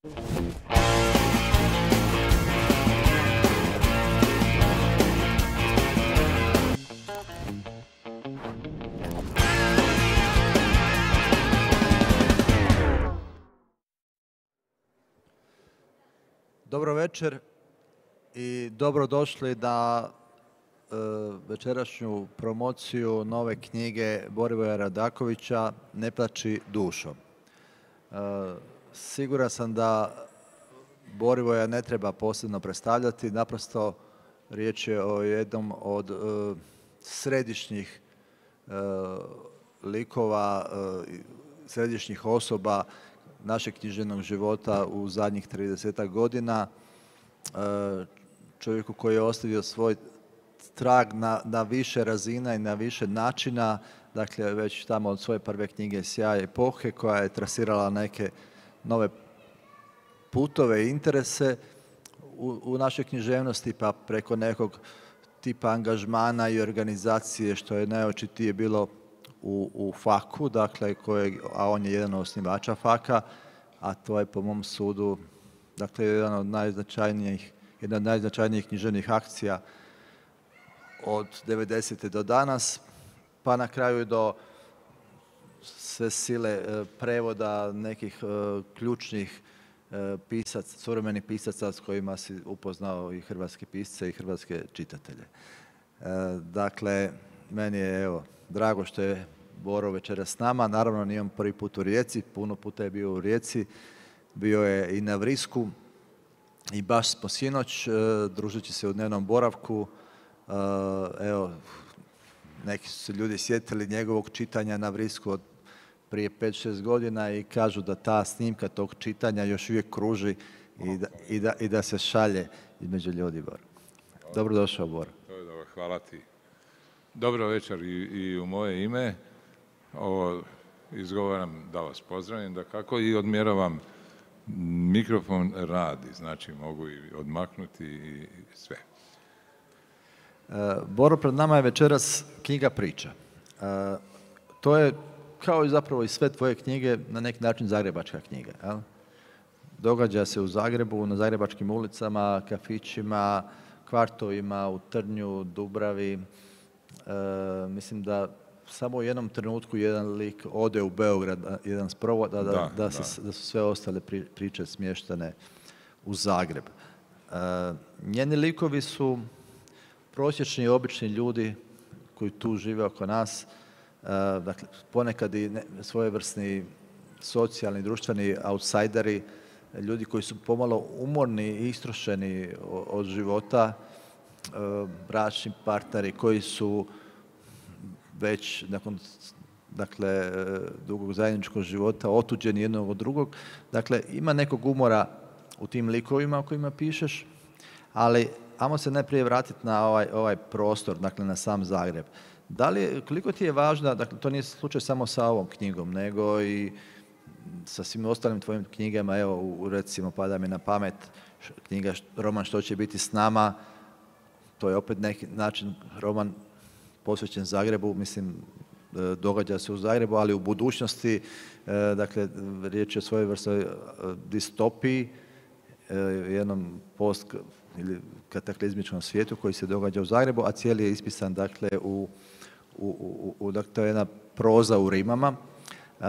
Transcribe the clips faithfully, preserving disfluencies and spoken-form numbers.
Dobro večer i dobrodošli na e, večerašnju promociju nove knjige Borivoja Radakovića Ne plači dušo. E, siguran sam da Borivoja ne treba posebno predstavljati, naprosto riječ je o jednom od e, središnjih e, likova, e, središnjih osoba našeg književnog života u zadnjih tridesetak godina, čovjeku koji je ostavio svoj trag na, na više razina i na više načina, dakle već tamo od svoje prve knjige Sjaj epohe, koja je trasirala neke nove putove i interese u, u našoj književnosti, pa preko nekog tipa angažmana i organizacije, što je najočitije bilo U, u faku, dakle, kojeg, a on je jedan od osnivača faka, a to je po mom sudu, dakle, jedan od najznačajnijih, jedna od najznačajnijih književnih akcija od devedesete do danas, pa na kraju do sve sile e, prevoda nekih e, ključnih e, pisaca, suvremenih pisaca s kojima si upoznao i hrvatske pisce i hrvatske čitatelje. E, dakle, meni je, evo, drago što je Boro večeras s nama. Naravno, nije on prvi put u Rijeci, puno puta je bio u Rijeci, bio je i na Vrisku i baš smo sinoć, e, družeći se u dnevnom boravku, e, evo, neki su se ljudi sjetili njegovog čitanja na Vrisku od prije pet šest godina i kažu da ta snimka tog čitanja još uvijek kruži i da, i da, i da se šalje između ljudi, Boro. Dobrodošao, Boro. Hvala ti. Dobro večer i, i u moje ime. Ovo izgovaram da vas pozdravim, da kako i odmjeravam, mikrofon radi, znači mogu i odmaknuti i sve. E, Boro, pred nama je večeras knjiga Priča. E, to je, kao i zapravo i sve tvoje knjige, na neki način zagrebačka knjiga. Jel? Događa se u Zagrebu, na zagrebačkim ulicama, kafićima, kvartovima, u Trnju, Dubravi. E, mislim da samo u jednom trenutku jedan lik ode u Beograd, jedan sprovod, da, da, da, da, se, da su sve ostale pri, priče smještene u Zagreb. E, njeni likovi su prosječni i obični ljudi koji tu žive oko nas, e, dakle, ponekad i ne, svojevrsni socijalni, društveni outsideri, ljudi koji su pomalo umorni i istrošeni od života, bračni partneri koji su već nakon, dakle, dugog zajedničkog života otuđeni jednog od drugog. Dakle, ima nekog umora u tim likovima o kojima pišeš, ali ajmo se najprije vratiti na ovaj, ovaj prostor, dakle na sam Zagreb. Da li, koliko ti je važno, dakle to nije slučaj samo sa ovom knjigom, nego i sa svim ostalim tvojim knjigama, evo u, recimo pada mi na pamet knjiga, roman Što će biti s nama, to je opet neki način roman posvećen Zagrebu, mislim, događa se u Zagrebu, ali u budućnosti, dakle, riječ je o svojevrsnoj distopiji, jednom post ili kataklizmičkom svijetu koji se događa u Zagrebu, a cijeli je ispisan, dakle, u, u, u, u dakle, to je jedna proza u rimama. Uh,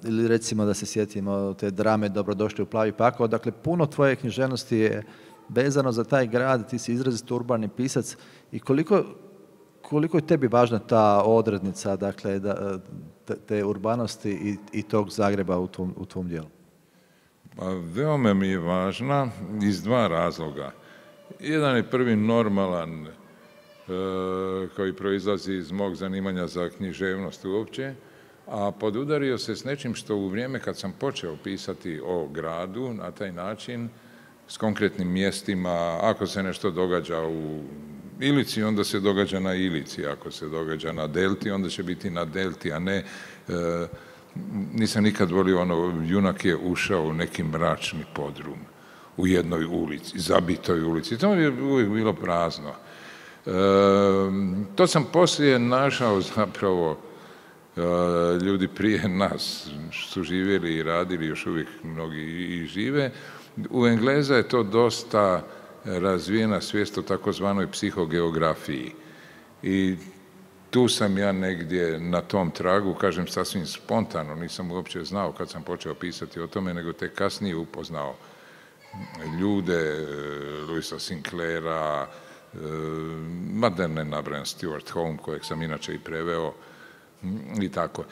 ili recimo da se sjetimo te drame Dobrodošli u Plavi pakao. Dakle, puno tvoje književnosti je vezano za taj grad, ti si izrazito urbani pisac i koliko, koliko je tebi važna ta odrednica, dakle, da, te, te urbanosti i, i tog Zagreba u tvom, u tvom dijelu? Pa, veoma mi je važna iz dva razloga. Jedan je prvi normalan, e, koji proizlazi iz mog zanimanja za književnost uopće, a podudario se s nečim što u vrijeme kad sam počeo pisati o gradu na taj način, s konkretnim mjestima, ako se nešto događa u Ilici, onda se događa na Ilici, ako se događa na Delti, onda će biti na Delti, a ne, e, nisam nikad volio ono, junak je ušao u neki mračni podrum u jednoj ulici, zabitoj ulici, to mi je uvijek bilo prazno. E, to sam poslije našao zapravo ljudi prije nas su živjeli i radili, još uvijek mnogi i žive. U Engleza je to dosta razvijena svijest o takozvanoj psihogeografiji. I tu sam ja negdje na tom tragu, kažem sasvim spontano, nisam uopće znao kad sam počeo pisati o tome, nego tek kasnije upoznao ljude, Louisa Sinclaira, ma da ne nabrajam Stuart Home, kojeg sam inače i preveo, i tako.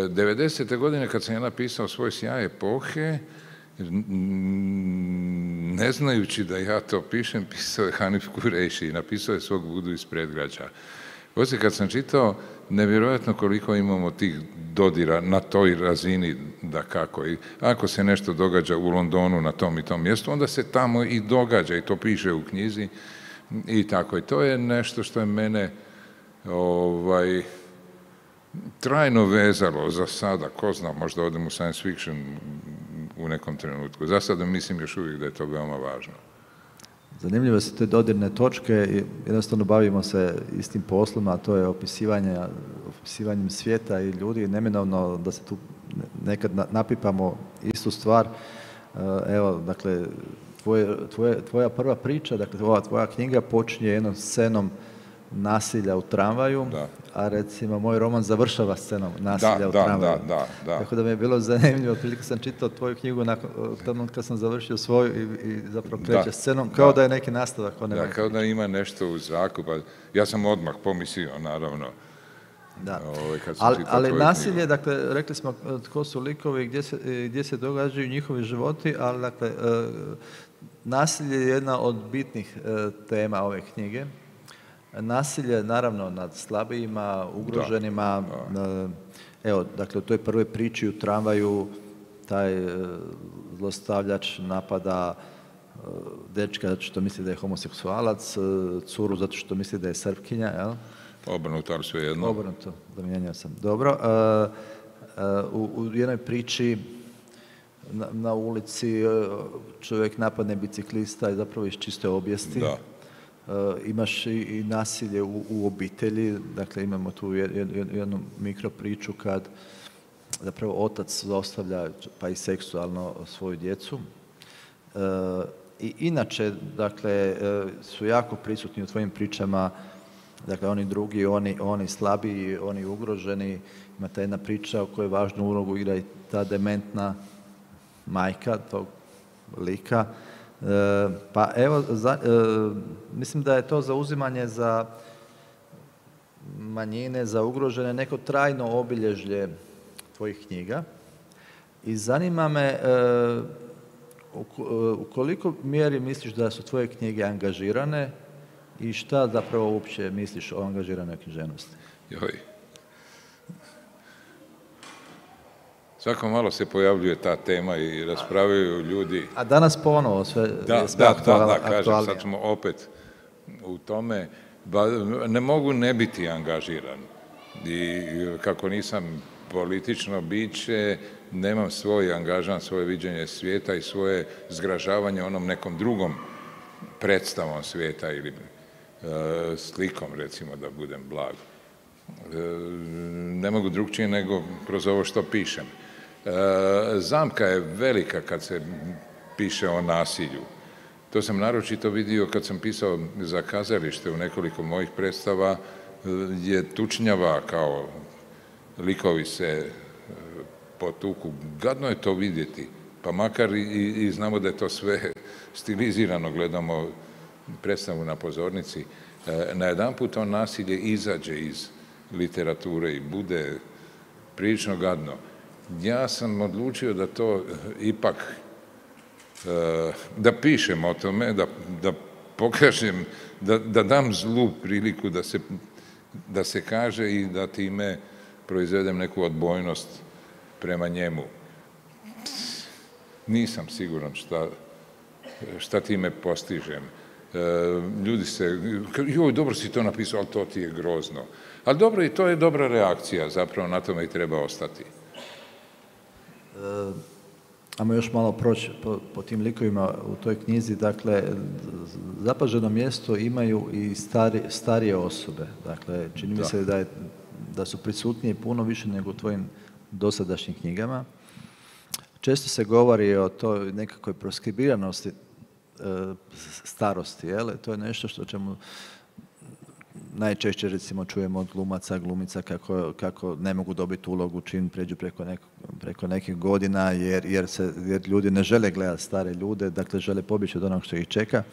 devedesete godine kad sam ja napisao Svoj sjaj epohe, ne znajući da ja to pišem, pisao je Hanif Kureiši i napisao je Svog Budu iz predgrađa. Poslije kad sam čitao, nevjerojatno koliko imamo tih dodira na toj razini, da kako. I ako se nešto događa u Londonu na tom i tom mjestu, onda se tamo i događa i to piše u knjizi i tako. I to je nešto što je mene ovaj, trajno vezalo za sada. Ko zna, možda odem u science fiction u nekom trenutku. Za sada mislim još uvijek da je to veoma važno. Zanimljivo su te dodirne točke i jednostavno bavimo se istim poslom, a to je opisivanje, opisivanjem svijeta i ljudi. Neminovno da se tu nekad napipamo istu stvar. Evo, dakle, tvoje, tvoje, tvoja prva priča, dakle, ova tvoja knjiga počinje jednom scenom nasilja u tramvaju, da. A recimo moj roman završava scenom nasilja da, u da, tramvaju. Da, da, da. Tako da mi je bilo zanimljivo, otprilike sam čitao tvoju knjigu nakon kad sam završio svoju i, i zapravo kreće da, scenom, kao da. da je neki nastavak. Da, kao da ima nešto u zraku, pa ja sam odmah pomislio, naravno. Da. Ovaj, kad sam ali ali nasilje, knjigu. Dakle, rekli smo tko su likovi, gdje se, gdje se događaju njihovi životi, ali dakle, nasilje je jedna od bitnih tema ove knjige. Nasilje, naravno, nad slabijima, ugroženima. Da, da. Evo, dakle, u toj prvoj priči u tramvaju taj zlostavljač napada dečka zato što misli da je homoseksualac, curu zato što misli da je Srpkinja, jel? Obrnuto, ali sve jedno. Obrnuto, zamijenio sam. Dobro. U, u jednoj priči na, na ulici čovjek napadne biciklista i zapravo iz čiste obijesti. Da. Uh, imaš i, i nasilje u, u obitelji, dakle imamo tu jed, jed, jednu mikro priču kad zapravo otac zlostavlja pa i seksualno svoju djecu. Uh, I inače, dakle, uh, su jako prisutni u tvojim pričama, dakle oni drugi, oni, oni slabiji, oni ugroženi. Ima ta jedna priča u kojoj važnu ulogu igra i ta dementna majka tog lika. E, pa evo, za, e, mislim da je to zauzimanje za manjine, za ugrožene, neko trajno obilježje tvojih knjiga. I zanima me e, u, u koliko mjeri misliš da su tvoje knjige angažirane i šta zapravo uopće misliš o angažiranoj književnosti? Joj. Svako malo se pojavljuje ta tema i raspravljaju ljudi. A danas ponovo sve da, je sve da, aktualno. Da, da, kažem, sad smo opet u tome. Ba, ne mogu ne biti angažiran. I kako nisam politično biće, nemam svoj angažan, svoje viđenje svijeta i svoje zgražavanje onom nekom drugom predstavom svijeta ili e, slikom, recimo, da budem blag. E, ne mogu drugčije nego kroz ovo što pišem. E, zamka je velika kad se piše o nasilju. To sam naročito vidio kad sam pisao za kazalište u nekoliko mojih predstava, je tučnjava kao likovi se potuku. Gadno je to vidjeti, pa makar i, i znamo da je to sve stilizirano, gledamo predstavu na pozornici. E, najedanput to nasilje izađe iz literature i bude prilično gadno. Ja sam odlučio da to ipak, da pišem o tome, da, da pokažem, da, da dam zlu priliku da se, da se kaže i da time proizvedem neku odbojnost prema njemu. Nisam siguran šta, šta time postižem. Ljudi se, joj, dobro si to napisao, ali to ti je grozno. Ali dobro, i to je dobra reakcija, zapravo na tome i treba ostati. E, ajmo još malo proći po, po tim likovima u toj knjizi. Dakle, zapaženo mjesto imaju i stari, starije osobe. Dakle, čini mi da. se da je da su prisutniji puno više nego u tvojim dosadašnjim knjigama. Često se govori o toj nekakvoj proskribiranosti e, starosti, jel? To je nešto što ćemo najčešće recimo čujemo od glumaca, glumica kako, kako ne mogu dobiti ulogu čim pređu preko, nek, preko nekih godina jer, jer, se, jer ljudi ne žele gledati stare ljude, dakle žele pobjeći od onog što ih čeka.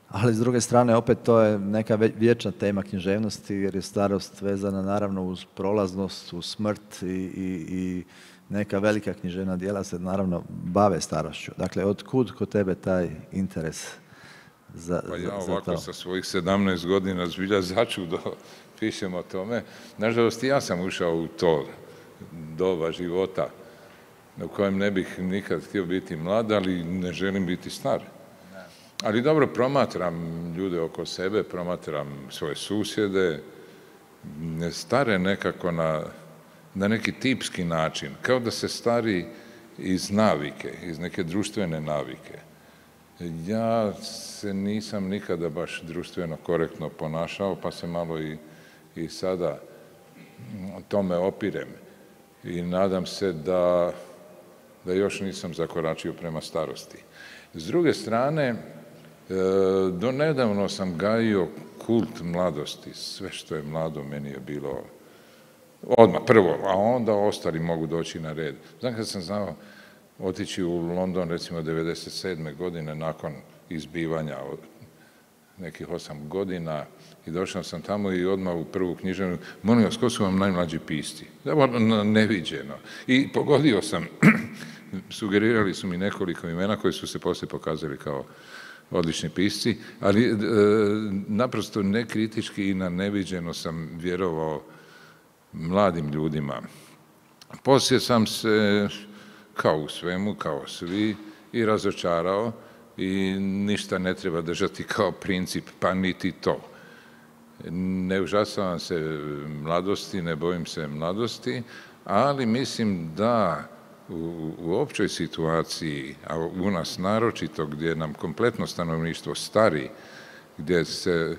Ali s druge strane opet to je neka vječna tema književnosti jer je starost vezana naravno uz prolaznost, uz smrt i, i, i neka velika književna djela se naravno bave starošću. Dakle, od kud kod tebe taj interes za, pa ja za, ovako za sa svojih sedamnaest godina zbilja začudo pišem o tome. Nažalost, ja sam ušao u to doba života u kojem ne bih nikad htio biti mlad, ali ne želim biti star. Ali dobro, promatram ljude oko sebe, promatram svoje susjede, stare nekako na, na neki tipski način, kao da se stari iz navike, iz neke društvene navike. Ja se nisam nikada baš društveno korektno ponašao, pa se malo i, i sada tome opirem. I nadam se da, da još nisam zakoračio prema starosti. S druge strane, do nedavno sam gajio kult mladosti. Sve što je mlado meni je bilo odmah prvo, a onda ostali mogu doći na red. Znam kad sam znao otići u London recimo devedeset sedme godine nakon izbivanja od nekih osam godina i došao sam tamo i odmah u prvu književnu, molim vas, ko su vam najmlađi pisci? Neviđeno. I pogodio sam, sugerirali su mi nekoliko imena koji su se poslije pokazali kao odlični pisci, ali e, naprosto nekritički i na neviđeno sam vjerovao mladim ljudima. Poslije sam se, kao u svemu, kao svi, i razočarao i ništa ne treba držati kao princip, pa niti to. Ne užasavam se mladosti, ne bojim se mladosti, ali mislim da u, u općoj situaciji, a u nas naročito gdje nam kompletno stanovništvo stari, gdje se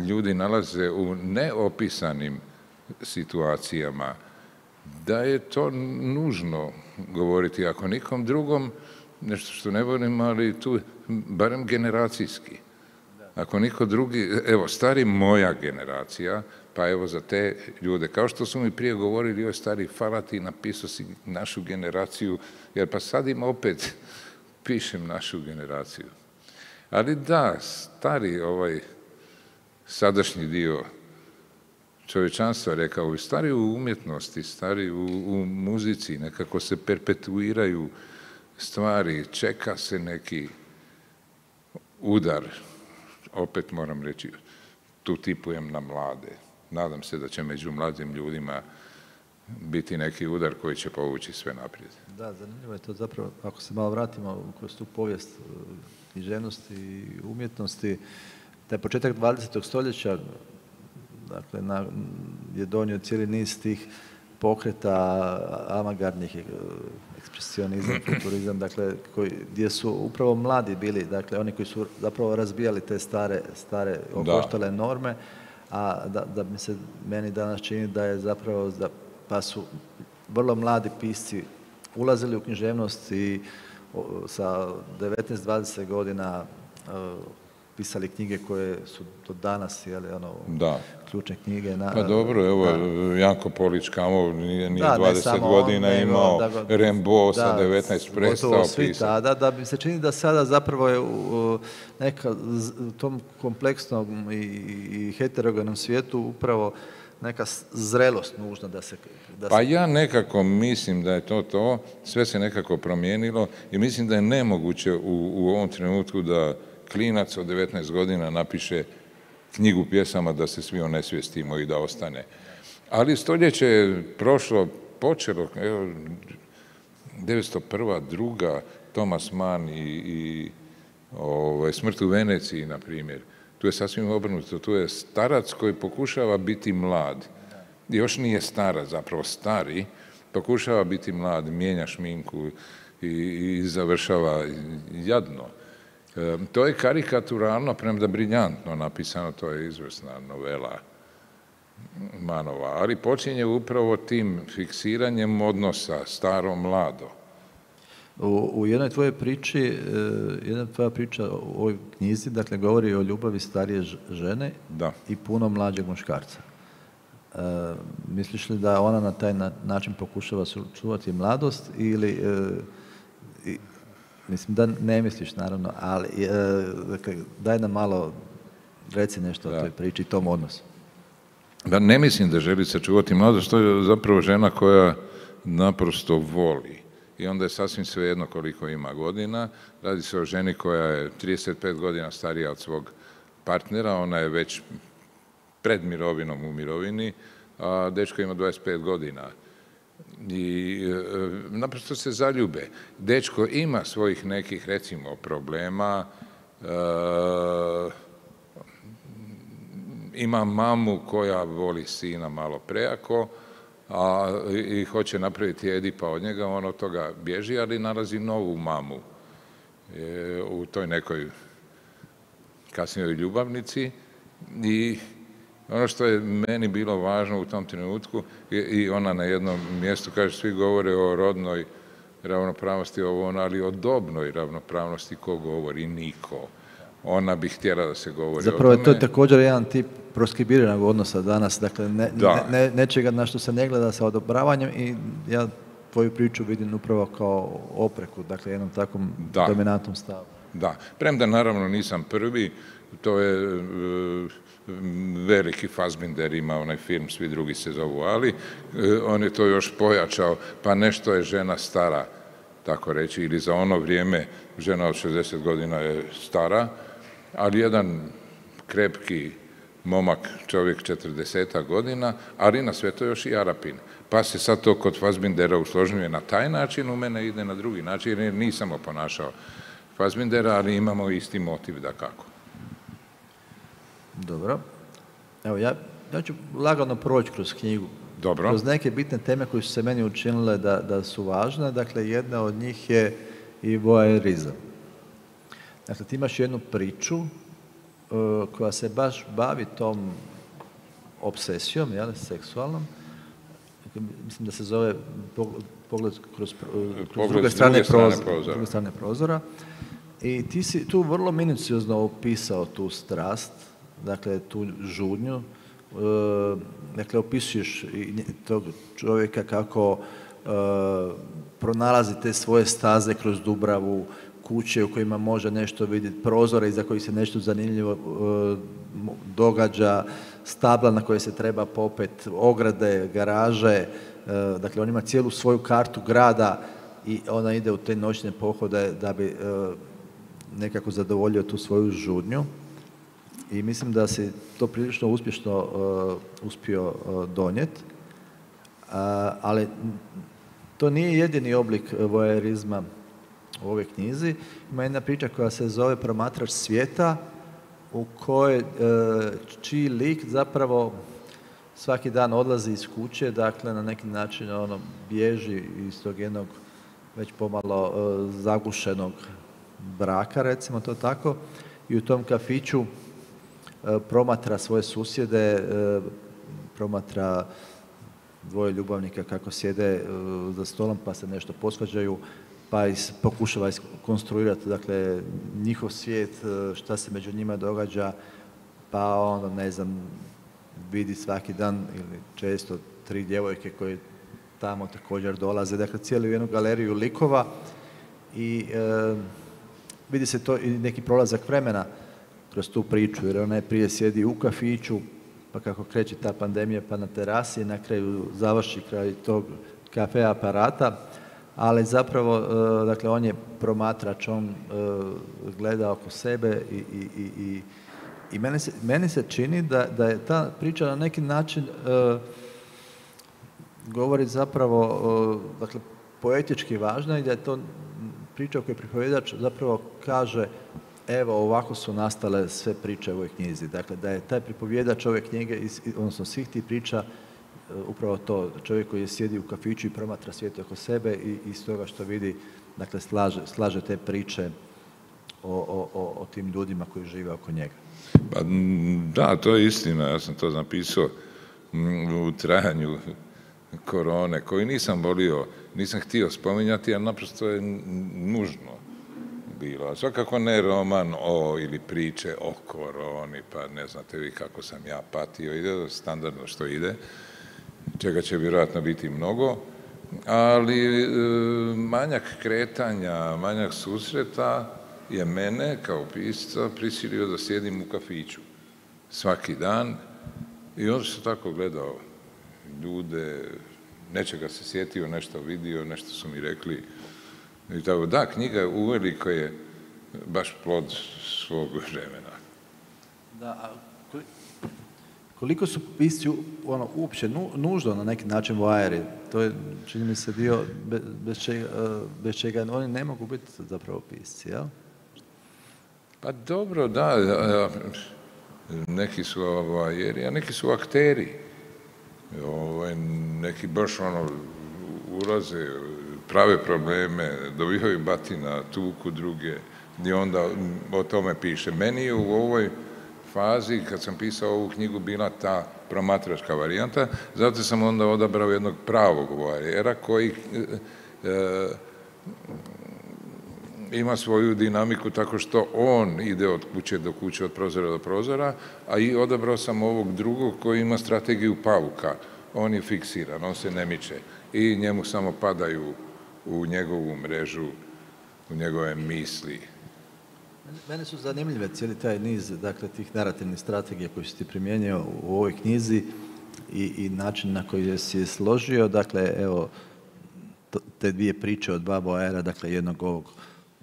ljudi nalaze u neopisanim situacijama, da je to nužno govoriti, ako nikom drugom, nešto što ne volim, ali tu barem generacijski. Ako niko drugi, evo, stari moja generacija, pa evo za te ljude, kao što su mi prije govorili, joj stari, hvala ti, napisao si našu generaciju, jer pa sad im opet pišem našu generaciju. Ali da, stari ovaj sadašnji dio čovječanstva, rekao bi, stari u umjetnosti, stari u, u muzici, nekako se perpetuiraju stvari, čeka se neki udar, opet moram reći, tu tipujem na mlade. Nadam se da će među mladim ljudima biti neki udar koji će povući sve naprijed. Da, zanimljivo je to zapravo, ako se malo vratimo kroz tu povijest književnosti i umjetnosti, taj početak dvadesetog stoljeća, dakle, na, je donio cijeli niz tih pokreta avangardnih, ekspresionizam, futurizam, dakle, koji, gdje su upravo mladi bili, dakle, oni koji su zapravo razbijali te stare, stare okoštale norme, a da, da mi se meni danas čini da je zapravo, da, pa su vrlo mladi pisci ulazili u književnost i o, sa devetnaest dvadeset godina o, pisali knjige koje su do danas, jeli, ono, da. ključne knjige. Na, pa dobro, evo, da. Janko Polić Kamov nije, nije da, dvadeset godina on, imao, da, Rembo sa devetnaest prestao pisati. Tada, da bi se čini da sada zapravo je u, neka, u tom kompleksnom i, i heterogenom svijetu upravo neka zrelost nužna da se... Da pa se... ja nekako mislim da je to to, sve se nekako promijenilo i mislim da je nemoguće u, u ovom trenutku da klinac od devetnaest godina napiše knjigu pjesama da se svi onesvijestimo i da ostane. Ali stoljeće je prošlo, počelo, evo, devetsto prva, druga, Thomas Mann i, i ovaj, Smrt u Veneciji, na primjer. Tu je sasvim obrnuto, tu je starac koji pokušava biti mlad. Još nije starac, zapravo stari, pokušava biti mlad, mijenja šminku i, i završava jadno. E, to je karikaturalno, premda briljantno napisano, to je izvrsna novela. manova, ali počinje upravo tim fiksiranjem odnosa staro-mlado. U, u jednoj tvojoj priči, jedna tvoja priča u ovoj knjizi, dakle, govori o ljubavi starije žene da. i puno mlađeg muškarca. E, misliš li da ona na taj na, način pokušava čuvati mladost ili, e, i, mislim da ne misliš naravno, ali e, dakle, daj nam malo, reci nešto da. o toj priči i tom odnosu. Da, ne mislim da želi sačuvati mladost, to je zapravo žena koja naprosto voli. I onda je sasvim svejedno koliko ima godina. Radi se o ženi koja je trideset pet godina starija od svog partnera, ona je već pred mirovinom u mirovini, a dečko ima dvadeset pet godina. I e, naprosto se zaljube. Dečko ima svojih nekih, recimo, problema, e, ima mamu koja voli sina malo prejako, a i hoće napraviti Edipa od njega, on od toga bježi, ali nalazi novu mamu e, u toj nekoj kasnijoj ljubavnici. I ono što je meni bilo važno u tom trenutku, i ona na jednom mjestu kaže, svi govore o rodnoj ravnopravnosti, ovo ono, ali o dobnoj ravnopravnosti ko govori? Niko. Ona bi htjela da se govori Zapravo, o tome. to je također jedan tip proskribiranog odnosa danas, dakle ne, ne, nečega na što se ne gleda sa odobravanjem i ja tvoju priču vidim upravo kao opreku, dakle jednom takvom da. dominantnom stavu. Da, premda naravno nisam prvi, to je e, veliki Fassbinder ima onaj film, svi drugi se zovu Ali, e, on je to još pojačao, pa nešto je žena stara, tako reći, ili za ono vrijeme žena od šezdeset godina je stara, ali jedan krepki momak, čovjek četrdeset godina, ali na sve to još i Arapin. Pa se sad to kod Fassbindera usložnjuje na taj način, u mene ide na drugi način, jer nisam oponašao Fassbindera, ali imamo isti motiv da kako. Dobro. Evo, ja, ja ću lagano proći kroz knjigu. Dobro. Kroz neke bitne teme koje su se meni učinile da, da su važne. Dakle, jedna od njih je i voajerizam. Dakle, ti imaš jednu priču uh, koja se baš bavi tom obsesijom, jel, seksualnom. Dakle, mislim da se zove pogled kroz, kroz pogled druge strane, strane prozora, prozora. druge strane prozora. I ti si tu vrlo minuciozno opisao tu strast, dakle, tu žudnju. Uh, dakle, opisuješ tog čovjeka kako uh, pronalazi te svoje staze kroz Dubravu, kuće u kojima može nešto vidjeti, prozore iza kojih se nešto zanimljivo uh, događa, stabla na koje se treba popet, ograde, garaže. Uh, dakle, on ima cijelu svoju kartu grada i ona ide u te noćne pohode da bi uh, nekako zadovoljio tu svoju žudnju. I mislim da si to prilično uspješno uh, uspio uh, donijeti. Uh, ali to nije jedini oblik voajerizma u ovoj knjizi. Ima jedna priča koja se zove Promatrač svijeta, u kojoj uh, čiji lik zapravo svaki dan odlazi iz kuće, dakle na neki način ono bježi iz tog jednog već pomalo uh, zagušenog braka, recimo to tako, i u tom kafiću promatra svoje susjede, promatra dvoje ljubavnika kako sjede za stolom pa se nešto posvađaju, pa is, pokušava iskonstruirati, dakle, njihov svijet, šta se među njima događa, pa onda, ne znam, vidi svaki dan ili često tri djevojke koje tamo također dolaze, dakle, cijelu jednu galeriju likova i e, vidi se to i neki prolazak vremena kroz tu priču, jer ona je prije sjedi u kafiću, pa kako kreće ta pandemija, pa na terasi, na kraju završi kraj tog kafe aparata, ali zapravo, dakle, on je promatrač, on gleda oko sebe i, i, i, i, i meni, se, meni se čini da, da je ta priča na neki način uh, govori zapravo, uh, dakle, poetički važna i da je to priča u kojoj pripovjedač zapravo kaže evo, ovako su nastale sve priče u ovoj knjizi. Dakle, da je taj pripovjedač ove knjige, odnosno svih tih priča, upravo to, čovjek koji je sjedi u kafiću i promatra svijet oko sebe i iz toga što vidi, dakle, slaže, slaže te priče o, o, o, o tim ljudima koji žive oko njega. Pa, da, to je istina, ja sam to napisao u trajanju korone, koju nisam volio, nisam htio spominjati, ali naprosto je nužno bilo. Svakako ne roman o ili priče o koroni, pa ne znate vi kako sam ja patio, ide standardno što ide, čega će vjerojatno biti mnogo, ali e, manjak kretanja, manjak susreta je mene kao pisca prisilio da sjedim u kafiću svaki dan i onda sam tako gledao ljude, nečega se sjetio, nešto vidio, nešto su mi rekli. I tako, da, knjiga uveliko je baš plod svog vremena. Da, a koliko su pisci ono, uopće nu, nužno na neki način vajeri? To je, čini mi se, dio bez, bez, čega, bez čega oni ne mogu biti zapravo pisci, jel? Pa dobro, da. Neki su vajeri, a neki su akteri. Ovaj, neki baš ono ulaze, prave probleme, dobivaju batina, tuku druge i onda o tome piše. Meni je u ovoj fazi, kad sam pisao ovu knjigu, bila ta promatračka varijanta, zato sam onda odabrao jednog pravog vajera koji e, ima svoju dinamiku tako što on ide od kuće do kuće, od prozora do prozora, a i odabrao sam ovog drugog koji ima strategiju pauka. On je fiksiran, on se ne miče i njemu samo padaju u njegovu mrežu, u njegove misli. Mene su zanimljive cijeli taj niz, dakle, tih narativnih strategija koji si ti primijenio u ovoj knjizi i, i način na koji si je složio. Dakle, evo, te dvije priče od dva vajera, dakle, jednog ovog,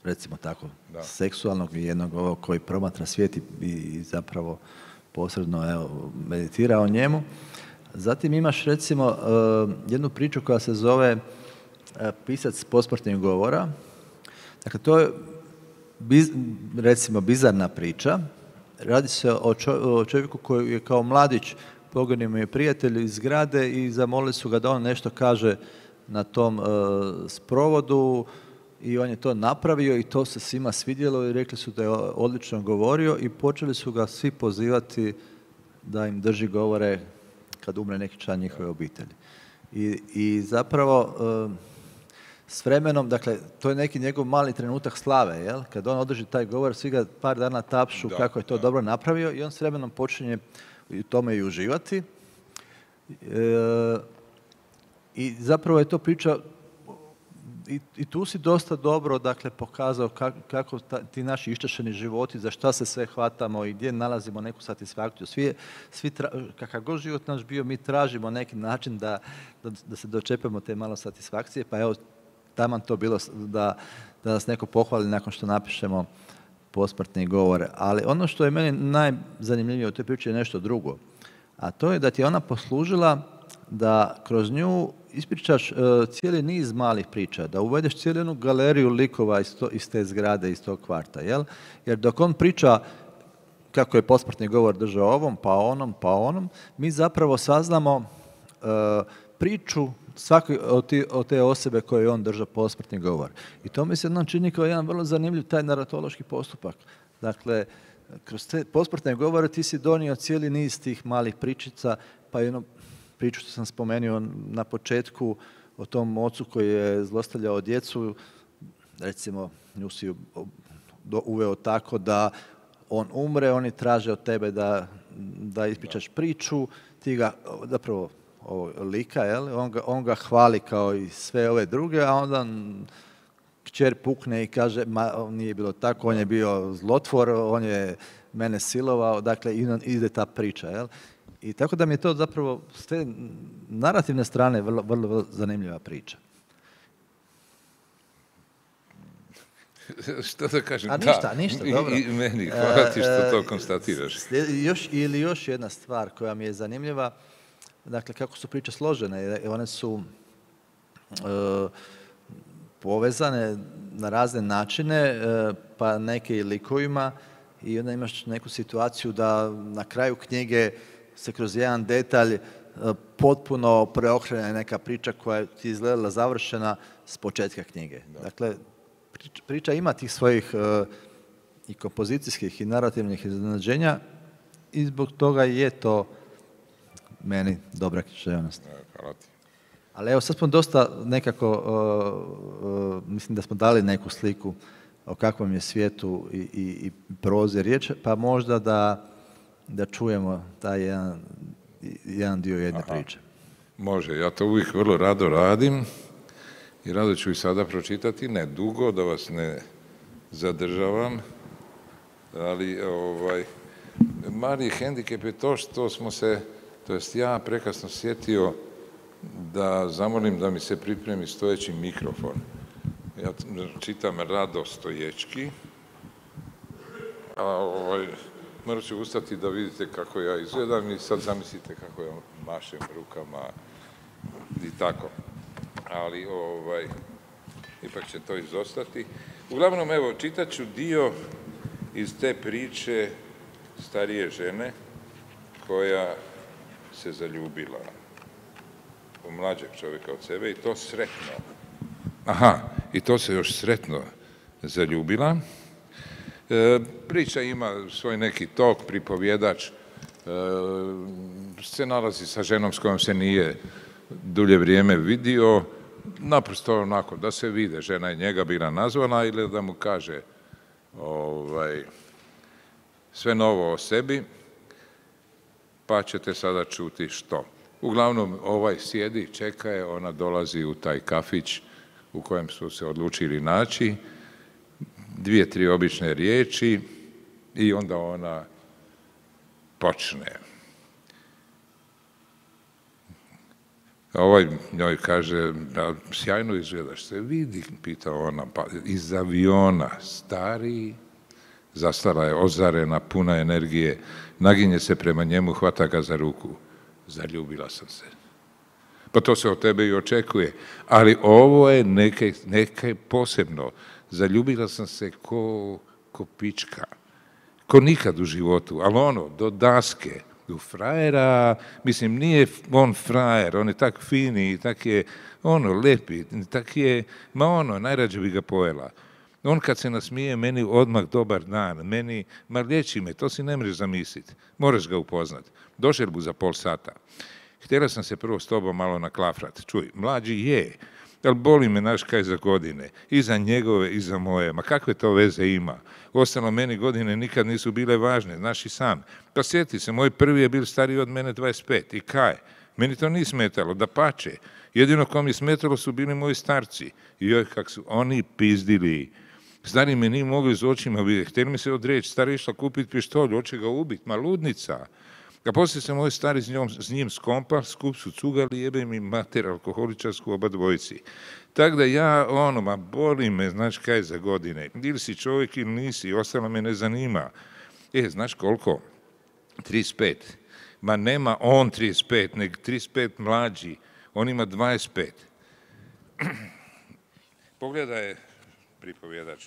recimo tako, da. seksualnog i jednog ovog koji promatra svijet i, i zapravo posredno, evo, meditira o njemu. Zatim imaš, recimo, uh, jednu priču koja se zove uh, Pisac posmrtnih govora. Dakle, to je, biz, recimo, bizarna priča. Radi se o, čo, o čovjeku koji je kao mladić poginuo mu je prijatelj iz zgrade i zamolili su ga da on nešto kaže na tom uh, sprovodu i on je to napravio i to se svima svidjelo i rekli su da je odlično govorio i počeli su ga svi pozivati da im drži govore kad umre neki član njihove obitelji. I, i zapravo s vremenom, dakle, to je neki njegov mali trenutak slave, jel? Kad on održi taj govor, svi ga par dana tapšu da, kako je to da. dobro napravio i on s vremenom počinje u tome i uživati. E, I zapravo je to priča I, i tu si dosta dobro, dakle, pokazao kako, kako ta, ti naši iščašeni životi, za šta se sve hvatamo i gdje nalazimo neku satisfakciju. Svi, svi tra, kakav god život naš bio, mi tražimo neki način da, da, da se dočepamo te malo satisfakcije, pa evo, taman to bilo da, da nas neko pohvali nakon što napišemo posmrtni govor. Ali ono što je meni najzanimljivije u toj priči je nešto drugo, a to je da ti je ona poslužila da kroz nju ispričaš uh, cijeli niz malih priča, da uvedeš cijelu jednu galeriju likova iz, to, iz te zgrade, iz tog kvarta, jel? Jer dok on priča kako je posmrtni govor držao ovom, pa onom, pa onom, mi zapravo saznamo uh, priču svake od, ti, od te osobe koje je on držao posmrtni govor. I to mi se nam čini kao jedan vrlo zanimljiv taj naratološki postupak. Dakle, kroz te posmrtne govore ti si donio cijeli niz tih malih pričica, pa jedno priču što sam spomenuo na početku o tom ocu koji je zlostavljao djecu, recimo nju si uveo tako da on umre, oni traže od tebe da, da ispričaš priču, ti ga, zapravo ovo lika, jel? On, ga, on ga hvali kao i sve ove druge, a onda kćer pukne i kaže, ma nije bilo tako, on je bio zlotvor, on je mene silovao, dakle ide ta priča, jel? I tako da mi je to zapravo s te narativne strane vrlo, vrlo, vrlo zanimljiva priča. Što da kažem? A ništa, da. ništa, dobro. I, i meni, hvala ti što to konstatiraš. Još, ili još jedna stvar koja mi je zanimljiva, dakle, kako su priče složene, one su e, povezane na razne načine, e, pa neke i likovima, i onda imaš neku situaciju da na kraju knjige se kroz jedan detalj potpuno preokrene neka priča koja ti izgledala završena s početka knjige. Da. Dakle, priča, priča ima tih svojih uh, i kompozicijskih i narativnih iznenađenja i zbog toga je to meni dobra književnost. Hvala ti. Ali evo, sad smo dosta nekako, uh, uh, mislim da smo dali neku sliku o kakvom je svijetu i, i, i prozi riječ, pa možda da, da čujemo taj jedan, jedan dio jedne Aha. priče. Može, ja to uvijek vrlo rado radim i rado ću i sada pročitati, ne dugo, da vas ne zadržavam, ali ovaj, mali hendikep je to što smo se, to jest ja prekasno sjetio da zamolim da mi se pripremi stojeći mikrofon. Ja čitam rado stoječki, a ovaj, morat ću ustati da vidite kako ja izgledam i sad zamislite kako ja mašem rukama i tako. Ali ovaj, ipak će to izostati. Uglavnom, evo, čitat ću dio iz te priče starije žene koja se zaljubila u mlađeg čovjeka od sebe i to sretno. Aha, i to se još sretno zaljubila. E, priča ima svoj neki tok, pripovjedač e, se nalazi sa ženom s kojom se nije dulje vrijeme vidio, naprosto onako da se vide, žena je njega bila nazvana ili da mu kaže ovaj, sve novo o sebi, pa ćete sada čuti što. Uglavnom, ovaj sjedi, čeka je, ona dolazi u taj kafić u kojem su se odlučili naći, dvije, tri obične riječi i onda ona počne. Ovaj njoj kaže, da, sjajno izgledaš, se vidi, pita ona, pa iz aviona, stari, zastala je, ozarena, puna energije, naginje se prema njemu, hvata ga za ruku. Zaljubila sam se. Pa to se od tebe i očekuje. Ali ovo je neke, neke posebno. Zaljubila sam se ko, ko pička. Ko nikad u životu. Ali ono, do daske. U frajera, mislim, nije on frajer, on je tak fini, tak je, ono, lepi, tak je, ma ono, najrađe bi ga pojela. On kad se nasmije, meni odmah dobar dan, meni, ma liječi me, to si ne možeš zamisliti, moraš ga upoznat. Došel bu za pol sata. Htjela sam se prvo s tobom malo naklafrat, čuj, mlađi je, ali boli me naš kaj za godine, i za njegove, i za moje, ma kakve to veze ima? Ostalo meni godine nikad nisu bile važne, znaš i sam. Pa sjeti se, moj prvi je bil stariji od mene dvadeset pet, i kaj? Meni to nije smetalo, da pače. Jedino ko mi smetalo su bili moji starci. I joj, kak su oni pizdili. Stari me nije mogli z očima vidjeti, htjeli mi se odreći, stari išla kupiti pištolj, hoće ga ubiti, ma ludnica. A poslije se moj stari s, njom, s njim skompa, skup su cugali, jebe mi mater alkoholičarsku oba dvojici. Tako da ja, ono, ma boli me, znaš kaj za godine. Ili si čovjek ili nisi, ostalo me ne zanima. E, znaš koliko? trideset pet. Ma nema on trideset pet, nego trideset pet mlađi. On ima dvadeset pet. Pogledaj, pripovjedač.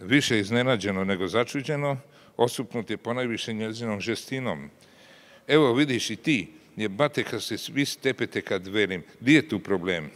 Više iznenađeno nego začuđeno, osupnut je ponajviše njezinom žestinom. Evo vidiš i ti, jebate kad se svi stepete kad velim, di je tu problem?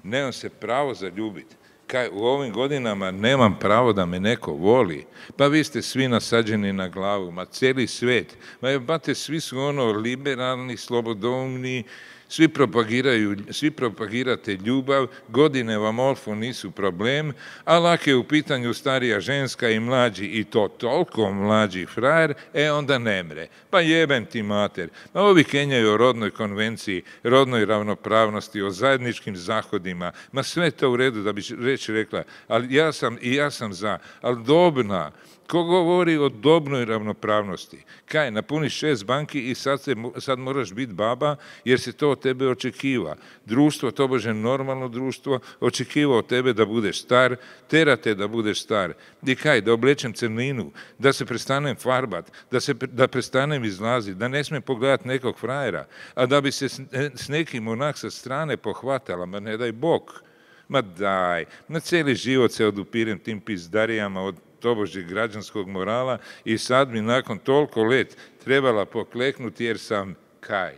Nemam se pravo zaljubiti. Kaj, u ovim godinama nemam pravo da me neko voli. Pa vi ste svi nasađeni na glavu, ma cijeli svijet. Ma jebate, svi su ono liberalni, slobodoumni, svi propagiraju, svi propagirate ljubav, godine vam olfu nisu problem, a lak je u pitanju starija ženska i mlađi, i to toliko mlađi frajer, e onda ne mre. Pa jebem ti mater. A ovi kenjaju o rodnoj konvenciji, rodnoj ravnopravnosti, o zajedničkim zahodima, ma sve to u redu da bi reći rekla, ali ja sam, i ja sam za, ali dobna. Ko govori o dobnoj ravnopravnosti? Kaj, napuniš šest banki i sad, se, sad moraš biti baba jer se to od tebe očekiva. Društvo, tobože normalno društvo, očekiva od tebe da budeš star, terate da budeš star. I kaj, da oblečem crninu, da se prestanem farbat, da, se, da prestanem izlaziti, da ne smijem pogledati nekog frajera, a da bi se s, s nekim onak sa strane pohvatala, ma ne daj Bog. Ma daj, na cijeli život se odupirem tim pizdarijama od tobožnjeg građanskog morala i sad mi nakon toliko let trebala pokleknuti jer sam kaj?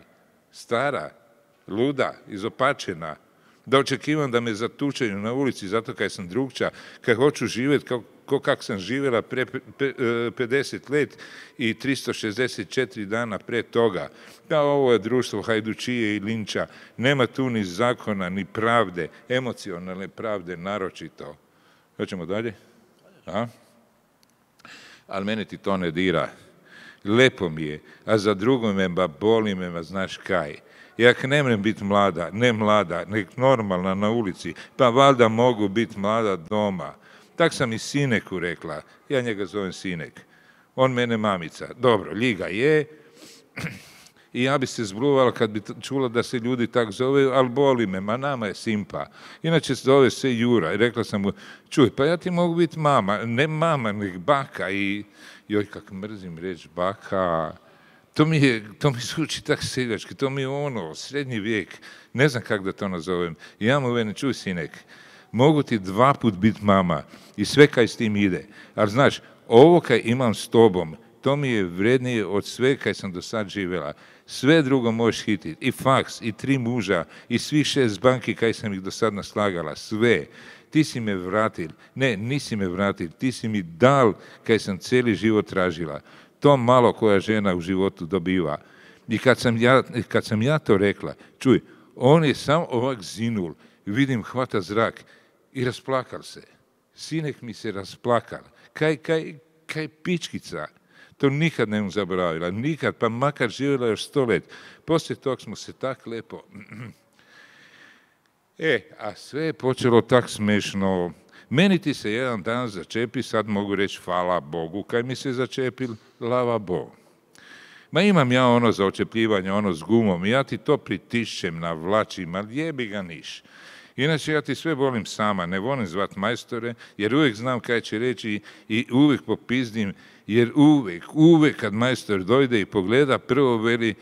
Stara, luda, izopačena. da očekivam da me zatučaju na ulici zato kaj sam drugča, kaj hoću živjeti kao ko kak sam živjela pre pedeset let i tristo šezdeset četiri dana pre toga. Da, ovo je društvo hajdučije i linča, nema tu ni zakona, ni pravde, emocionalne pravde naročito. Hoćemo dalje? A? Ali mene ti to ne dira. Lepo mi je, a za drugo me ba boli me, ma znaš kaj. Jak ne mrem biti mlada, ne mlada, nek normalna na ulici, pa valjda mogu biti mlada doma. Tak sam i Sineku rekla, ja njega zovem Sinek, on mene mamica. Dobro, ljiga je, i ja bi se zbluvala kad bi čula da se ljudi tak zove, ali boli me, ma nama je simpa. Inače se zove se Jura i rekla sam mu, čuj, pa ja ti mogu biti mama, ne mama, nek baka. I joj, kak mrzim reći baka, to mi, je, to mi zvuči tak seljački, to mi je ono, srednji vijek, ne znam kako da to nazovem. I ja mu vene, čuj Sinek, mogu ti dva put biti mama i sve kaj s tim ide. Ali znaš, ovo kaj imam s tobom, to mi je vrednije od sve kaj sam do sad živjela. Sve drugo možeš hititi. I faks, i tri muža, i svi šest banki kaj sam ih do sad naslagala. Sve. Ti si me vratil. Ne, nisi me vratil. Ti si mi dal kaj sam cijeli život tražila. To malo koja žena u životu dobiva. I kad sam ja, kad sam ja to rekla, čuj, on je sam ovak zinul. Vidim, hvata zrak i rasplakal se. Sinek mi se rasplakal. Kaj, kaj, kaj pičkica. To nikad ne mu zaboravila, nikad, pa makar živjela još sto let. Poslije tog smo se tak lepo... E, a sve je počelo tak smešno. Meni ti se jedan dan začepi, sad mogu reći hvala Bogu, kaj mi se začepil, lava Bog. Ma imam ja ono za očepljivanje, ono s gumom, ja ti to pritišćem, navlačim, ali jebi ga niš. Inače, ja ti sve volim sama, ne volim zvat majstore, jer uvijek znam kaj će reći i uvijek popizdim, jer uvijek, uvijek kad majstor dojde i pogleda, prvo veli,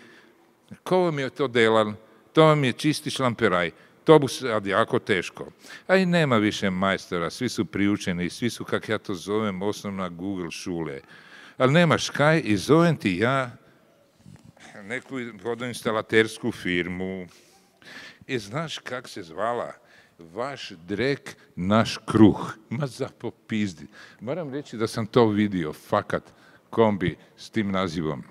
ko vam je to delal, to vam je čisti šlamperaj, to bu sad jako teško. A i nema više majstora, svi su priučeni, svi su, kak ja to zovem, osnovna Google šule. Ali nemaš kaj i zovem ti ja neku vodoinstalatersku firmu. I znaš kak se zvala? Vaš drek, naš kruh. Ma za popizdi. Moram reći da sam to vidio, fakat, kombi s tim nazivom.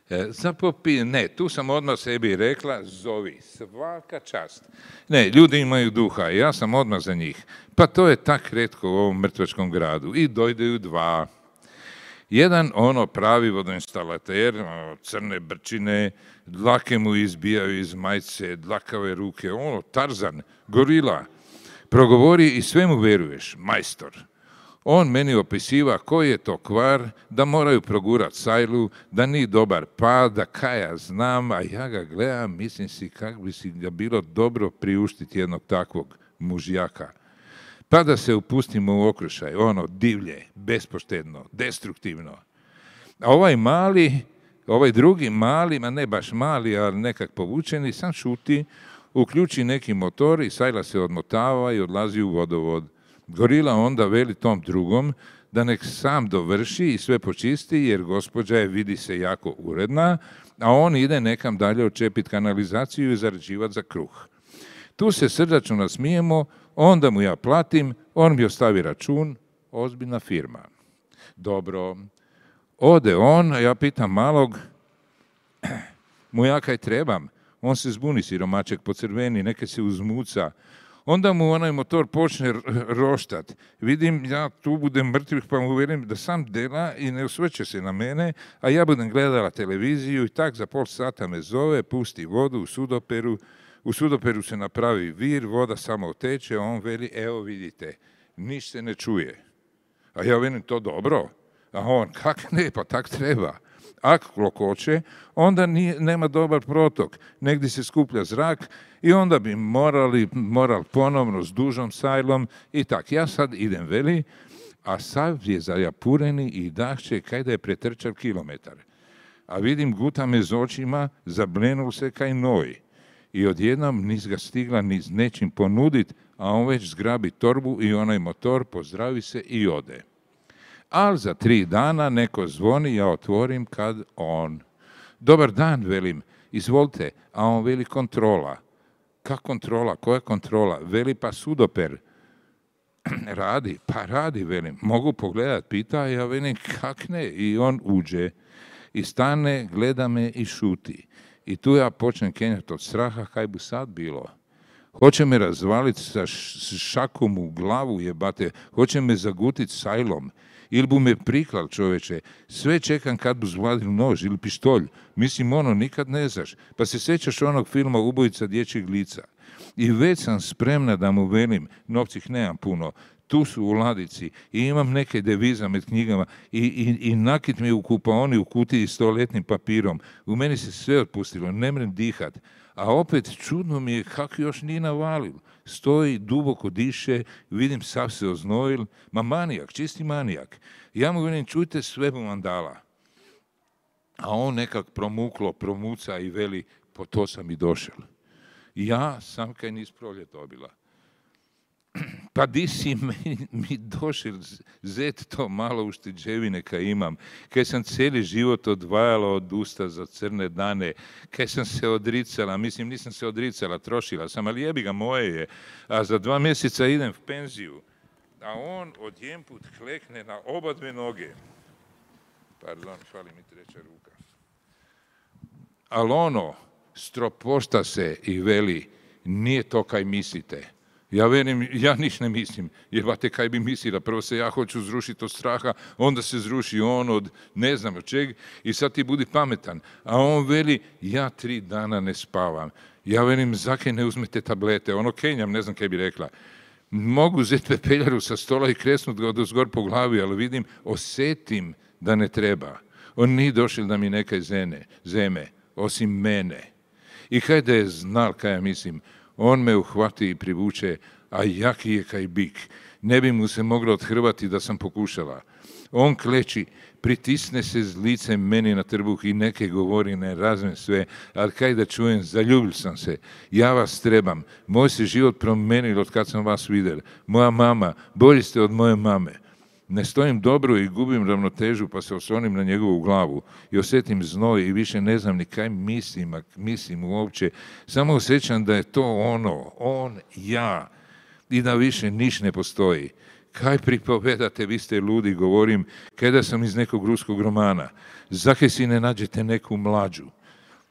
E, za popizdi, ne, tu sam odmah sebi rekla, zovi, svaka čast. Ne, ljudi imaju duha, ja sam odmah za njih. Pa to je tak retko u ovom mrtvačkom gradu. I dojdeju dva. Jedan ono pravi vodoinstalater, crne brčine, dlake mu izbijaju iz majice, dlakave ruke, ono, Tarzan, gorila. Progovori i sve mu veruješ, majstor. On meni opisiva koji je to kvar, da moraju progurat sajlu, da nije dobar pad, da kaj ja znam, a ja ga gledam, mislim si kako bi si ga bilo dobro priuštiti jednog takvog mužjaka. Pa da se upustimo u okrušaj, ono divlje, bespoštedno, destruktivno. A ovaj mali, ovaj drugi mali, ma ne baš mali, ali nekak povučeni, sam šuti, uključi neki motor i sajla se odmotava i odlazi u vodovod. Gorila onda veli tom drugom da nek sam dovrši i sve počisti, jer gospođa je, vidi se, jako uredna, a on ide nekam dalje očepit kanalizaciju i zarađivat za kruh. Tu se srdačno nasmijemo, onda mu ja platim, on mi ostavi račun, ozbiljna firma. Dobro, ode on, ja pitam malog, mu ja kaj trebam? On se zbuni, siromaček, pocrveni, neke se uzmuca. Onda mu onaj motor počne roštat. Vidim, ja tu budem mrtvih, pa mu velim da sam dela i ne osvrće se na mene, a ja budem gledala televiziju i tak za pol sata me zove, pusti vodu u sudoperu. U sudoperu se napravi vir, voda samo oteče, a on veli, evo vidite, niš se ne čuje. A ja velim, to dobro. A on, kak ne, pa tak treba. Ako klokoće, onda nije, nema dobar protok. Negdje se skuplja zrak i onda bi morali, moral ponovno s dužom sajlom i tak. Ja sad idem, veli, a sav je zajapureni i dahće kaj da je pretrčal kilometar. A vidim, guta me z očima, zablenul se kaj noj. I odjednom nis ga stigla ni s nečim ponudit, a on već zgrabi torbu i onaj motor, pozdravi se i ode. Ali za tri dana neko zvoni, ja otvorim kad on. Dobar dan, velim, izvolite, a on veli kontrola. Kak kontrola? Koja kontrola? Veli pa sudoper. Radi, pa radi, velim. Mogu pogledat, pita, ja velim, kak ne? I on uđe i stane, gleda me i šuti. I tu ja počnem kenjati od straha, kaj bi sad bilo. Hoće me razvaliti sa šakom u glavu, jebate. Hoće me zagutit sajlom. Ili bu me priklal, čoveče. Sve čekam kad bu zvladil nož ili pištolj. Mislim, ono, nikad ne znaš. Pa se sjećaš onog filma Ubojica dječjeg lica. I već sam spremna da mu velim, novcih nemam puno, tu su u ladici i imam neke deviza med knjigama i, i, i nakit mi u kupaoni u kutiji s toaletnim papirom. U meni se sve otpustilo, ne mrem dihat. A opet čudno mi je kako još nije navalil. Stoji, duboko diše, vidim sav se oznojil. Ma manijak, čisti manijak. Ja mu velim, čujte, sve bu vam dala. A on nekak promuklo, promuca i veli, po to sam i došel. Ja sam kaj nis proljet dobila. Pa di si mi, mi došel zet to malo ušteđevine kaj imam, kaj sam cijeli život odvajala od usta za crne dane, kaj sam se odricala, mislim nisam se odricala, trošila sam, ali jebi ga, moje je, a za dva mjeseca idem v penziju, a on odjedanput klekne na oba dve noge. Pardon, fali mi treća ruka. Ali ono, stropošta se i veli, nije to kaj mislite. Ja velim, ja niš ne mislim, jebate kaj bi mislila, prvo se ja hoću zrušiti od straha, onda se zruši on od ne znam od čeg i sad ti budi pametan. A on veli, ja tri dana ne spavam. Ja velim, zakaj ne uzmete tablete, ono kenjam, ne znam kaj bi rekla. Mogu uzeti pepeljaru sa stola i kresnut ga odozgor po glavi, ali vidim, osetim da ne treba. On nije došel da mi nekaj zene, zeme, osim mene. I kaj da je znal kaj ja mislim, on me uhvati i privuče, a jaki je kaj bik. Ne bi mu se moglo odhrvati da sam pokušala. On kleči, pritisne se z licem meni na trbuh i neke govori, ne razumem sve, ali kaj da čujem, zaljubil sam se. Ja vas trebam. Moj se život promenil od kad sam vas vidjel. Moja mama, bolji ste od moje mame. Ne stojim dobro i gubim ravnotežu, pa se oslonim na njegovu glavu i osjetim znoj i više ne znam ni kaj mislim, a mislim uopće. Samo osjećam da je to ono, on, ja, i da više niš ne postoji. Kaj pripovedate, vi ste ludi, govorim, kada sam iz nekog ruskog romana. Zakaj si ne nađete neku mlađu?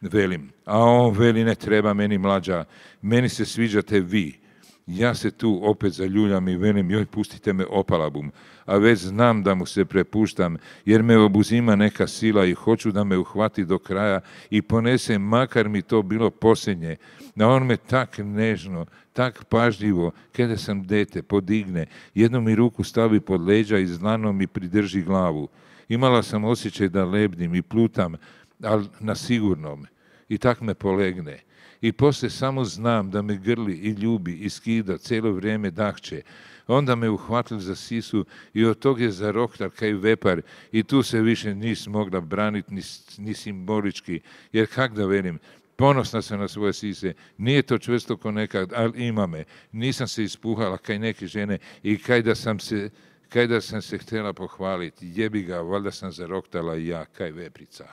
Velim, a on veli, ne treba meni mlađa, meni se sviđate vi. Ja se tu opet zaljuljam i velim, joj, pustite me, opala bum. A već znam da mu se prepuštam, jer me obuzima neka sila i hoću da me uhvati do kraja i ponese, makar mi to bilo posljednje. A on me tak nežno, tak pažljivo, kada sam dete, podigne, jednu mi ruku stavi pod leđa i zlano mi pridrži glavu. Imala sam osjećaj da lebdim i plutam, ali na sigurnom. I tak me polegne. I poslije samo znam da me grli i ljubi i skida, cijelo vrijeme dahće. Onda me uhvatil za sisu i od tog je zaroktar kaj vepar i tu se više nis mogla braniti ni, ni simbolički, jer kak da velim, ponosna sam na svoje sise, nije to čvrsto ko nekad, ali ima me. Nisam se ispuhala kaj neke žene i kaj da sam se, kaj da sam se htjela pohvaliti, jebi ga, valjda sam zaroktala i ja, kaj veprica.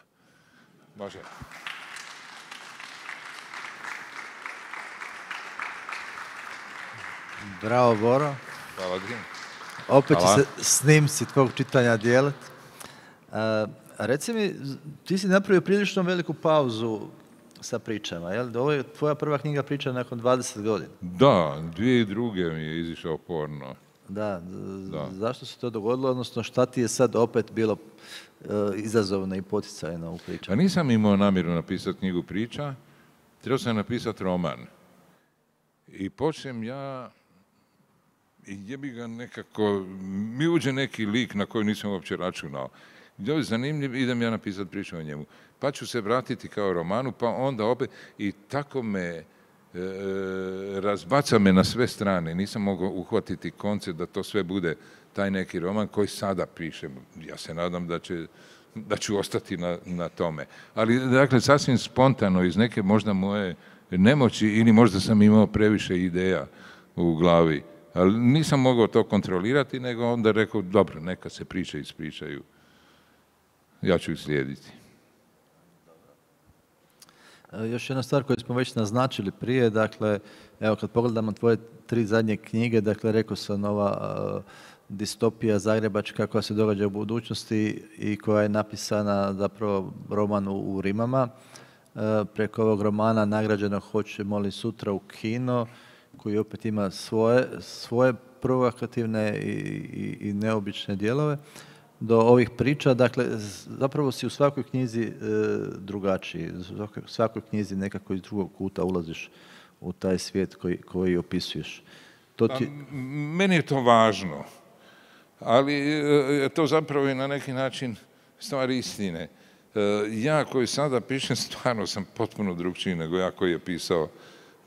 Može. Bravo, Boro. Hvala, Grim. Opet Hvala. će se snimci tvog čitanja dijeliti. Uh, reci mi, ti si napravio prilično veliku pauzu sa pričama, jel? Ovo je tvoja prva knjiga priča nakon dvadeset godina. Da, dvije i druge mi je izišao porno. Da, Da. zašto se to dogodilo, odnosno šta ti je sad opet bilo uh, izazovno i poticajno u Pa pričama? nisam imao namjeru napisati knjigu priča, trebao sam napisati roman. I počnem ja, i jebi ga nekako, mi uđe neki lik na koji nisam uopće računao. Ovo je zanimljiv, idem ja napisati priču o njemu. Pa ću se vratiti kao romanu, pa onda opet, i tako me, e, razbaca me na sve strane. Nisam mogao uhvatiti koncept da to sve bude taj neki roman koji sada pišem. Ja se nadam da će, da ću ostati na, na tome. Ali, dakle, sasvim spontano, iz neke možda moje nemoći ili možda sam imao previše ideja u glavi. Ali nisam mogao to kontrolirati, nego onda rekao, dobro, neka se priče ispričaju. Ja ću ih slijediti. Još jedna stvar koju smo već naznačili prije, dakle, evo kad pogledamo tvoje tri zadnje knjige, dakle, rekao sam ova uh, distopija zagrebačka koja se događa u budućnosti i koja je napisana zapravo roman u, u Rimama. Uh, preko ovog romana nagrađeno Hoćemo li sutra u kino, koji opet ima svoje, svoje provokativne i, i, i neobične dijelove, do ovih priča. Dakle, zapravo si u svakoj knjizi e, drugačiji. U svakoj knjizi nekako iz drugog kuta ulaziš u taj svijet koji, koji opisuješ. To ti... A, meni je to važno, ali je to zapravo i na neki način stvar istine. E, ja koji sada pišem, stvarno sam potpuno drugčiji nego ja koji je pisao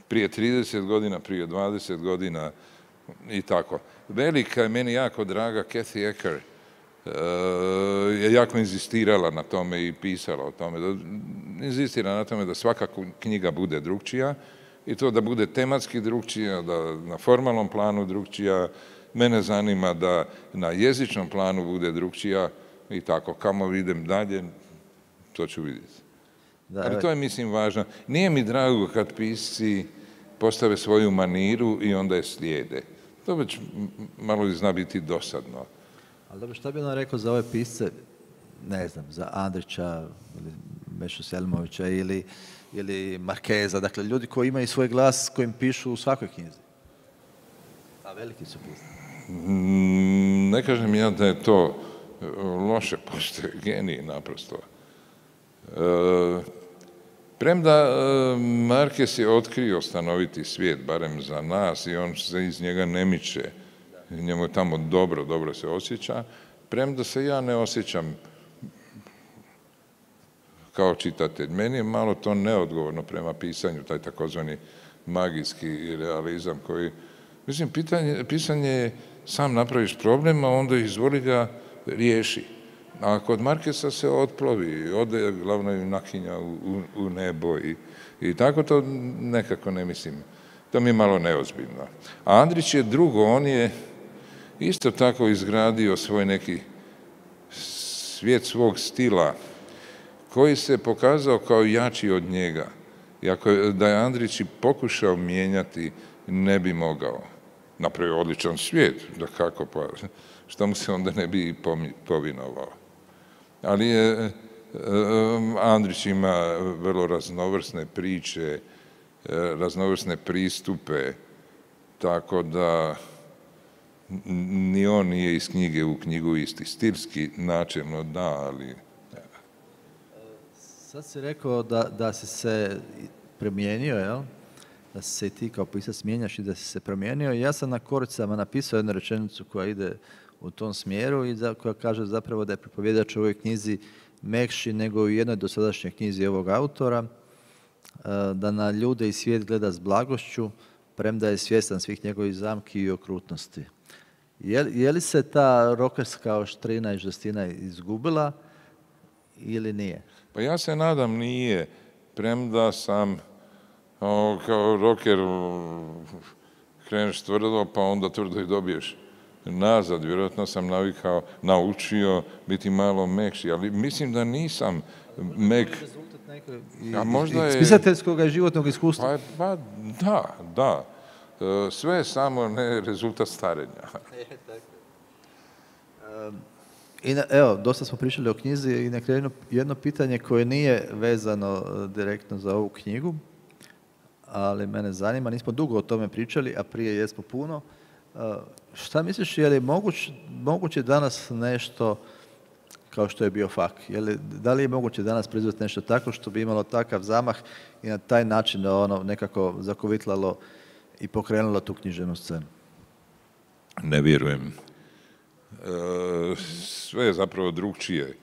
prije trideset godina, prije dvadeset godina i tako. Velika je meni jako draga Kathy Ecker, je jako inzistirala na tome i pisala o tome. Inzistira na tome da svaka knjiga bude drugčija i to da bude tematski drugčija, da na formalnom planu drugčija. Mene zanima da na jezičnom planu bude drugčija i tako. Kamo idem dalje, to ću vidjeti. Da, ali to je, mislim, važno. Nije mi drago kad pisci postave svoju maniru i onda je slijede. To već malo zna biti dosadno. Ali dobro, šta bi on rekao za ove pisce, ne znam, za Andrića ili Mešu Selimovića ili, ili Markeza, dakle ljudi koji imaju svoj glas kojim pišu u svakoj knjizi? A veliki su pisci. Ne kažem ja da je to loše, pošto je genij naprosto. E, premda Markez je otkrio stanoviti svijet, barem za nas, i on se iz njega ne miče. Njemu je tamo dobro, dobro se osjeća, premda se ja ne osjećam kao čitatelj. Meni je malo to neodgovorno prema pisanju, taj takozvani magijski realizam koji, mislim, pitanje, pisanje je sam napraviš problem, a onda izvoli ga riješi. A kod Markesa se otplovi, ode glavno junakinja u, u, u nebo i, i tako to nekako ne mislim. To mi je malo neozbiljno. A Andrić je drugo, on je isto tako izgradio svoj neki svijet svog stila koji se pokazao kao jači od njega. I ako je, da je Andrić i pokušao mijenjati, ne bi mogao. Napravio odličan svijet, da kako, pa što mu se onda ne bi povinovao. Ali je, Andrić ima vrlo raznovrsne priče, raznovrsne pristupe, tako da ni on nije iz knjige u knjigu isti. Stilski načelno da, ali... Sad si rekao da, da si se promijenio, jel? Da si se i ti kao pisac mijenjaš i da si se promijenio. Ja sam na koricama napisao jednu rečenicu koja ide u tom smjeru i za, koja kaže zapravo da je pripovjedač u ovoj knjizi mekši nego u jednoj dosadašnjoj knjizi ovog autora, da na ljude i svijet gleda s blagošću, premda je svjestan svih njegovih zamki i okrutnosti. Je, je li se ta rokerska oštrina i žestina izgubila ili nije? Pa ja se nadam nije, premda sam o, kao roker kreneš tvrdo, pa onda tvrdo i dobiješ nazad. Vjerojatno sam navikao, naučio biti malo mekši, ali mislim da nisam mek... A možda je... Spisateljskog i životnog iskustva. Pa, pa da, da. Sve je samo ne rezultat starenja. I na, evo, dosta smo pričali o knjizi i na kraju jedno pitanje koje nije vezano direktno za ovu knjigu, ali mene zanima, nismo dugo o tome pričali, a prije jesmo puno. Šta misliš, je li moguć, moguće danas nešto kao što je bio Fak? Je li, da li je moguće danas proizvesti nešto tako što bi imalo takav zamah i na taj način da ono nekako zakovitlalo i pokrenulo tu književnu scenu? Ne vjerujem. E, sve je zapravo drugčije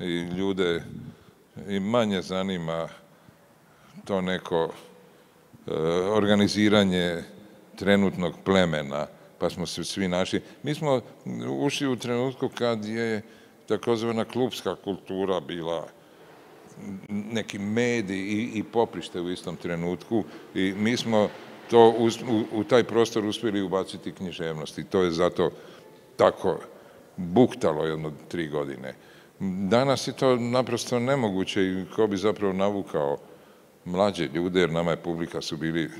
i ljude i manje zanima to neko e, organiziranje trenutnog plemena, pa smo se svi našli. Mi smo ušli u trenutku kad je takozvana klupska kultura bila neki medij i, i poprište u istom trenutku i mi smo to u, u taj prostor uspjeli ubaciti književnost i to je zato tako buktalo jedno tri godine. Danas je to naprosto nemoguće i ko bi zapravo navukao mlađe ljude, jer nama je publika su bili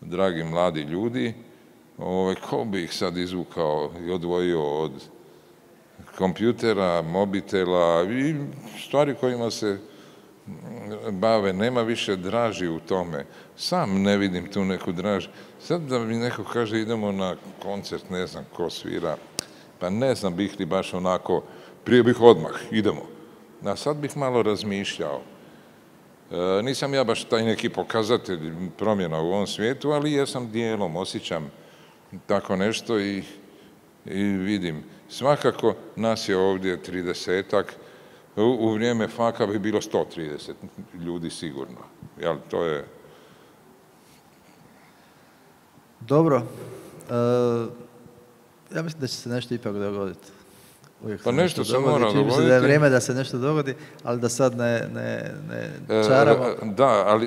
dragi mladi ljudi, ove, ko bi ih sad izvukao i odvojio od kompjutera, mobitela i stvari kojima se bave, nema više draži u tome. Sam ne vidim tu neku draži. Sad da mi neko kaže idemo na koncert, ne znam ko svira, pa ne znam bih li baš onako, prije bih odmah, idemo. A sad bih malo razmišljao. E, nisam ja baš taj neki pokazatelj promjena u ovom svijetu, ali jesam dijelom, osjećam tako nešto i, i vidim. Svakako nas je ovdje tridesetak, u, u vrijeme faka bi bilo sto trideset ljudi sigurno. Jel, to je... Dobro. E, ja mislim da će se nešto ipak dogoditi. Uvijek pa nešto se dogodi. mora Čini dogoditi. Da je vrijeme da se nešto dogodi, ali da sad ne, ne, ne čaramo. E, da, ali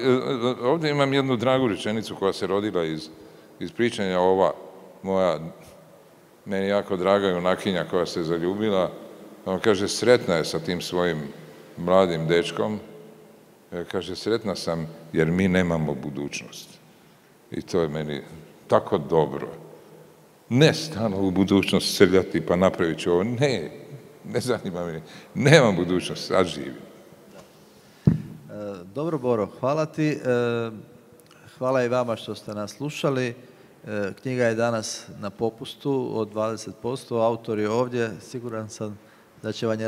ovdje imam jednu dragu rečenicu koja se rodila iz, iz pričanja, ova moja, meni jako draga junakinja koja se zaljubila. On kaže, sretna je sa tim svojim mladim dečkom. E, kaže, sretna sam jer mi nemamo budućnost. I to je meni tako dobro. Ne stalno u budućnost srljati pa napravit ću ovo. Ne, ne zanima me. Nemam budućnost, sad živim. Dobro, Boro, hvala ti. Hvala i vama što ste nas slušali. Knjiga je danas na popustu od dvadeset posto. Autor je ovdje. Siguran sam da će vam je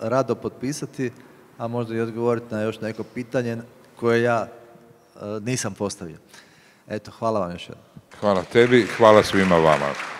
rado potpisati, a možda i odgovoriti na još neko pitanje koje ja nisam postavio. Eto, hvala vam još jednom. Hvala tebi, hvala svima vama.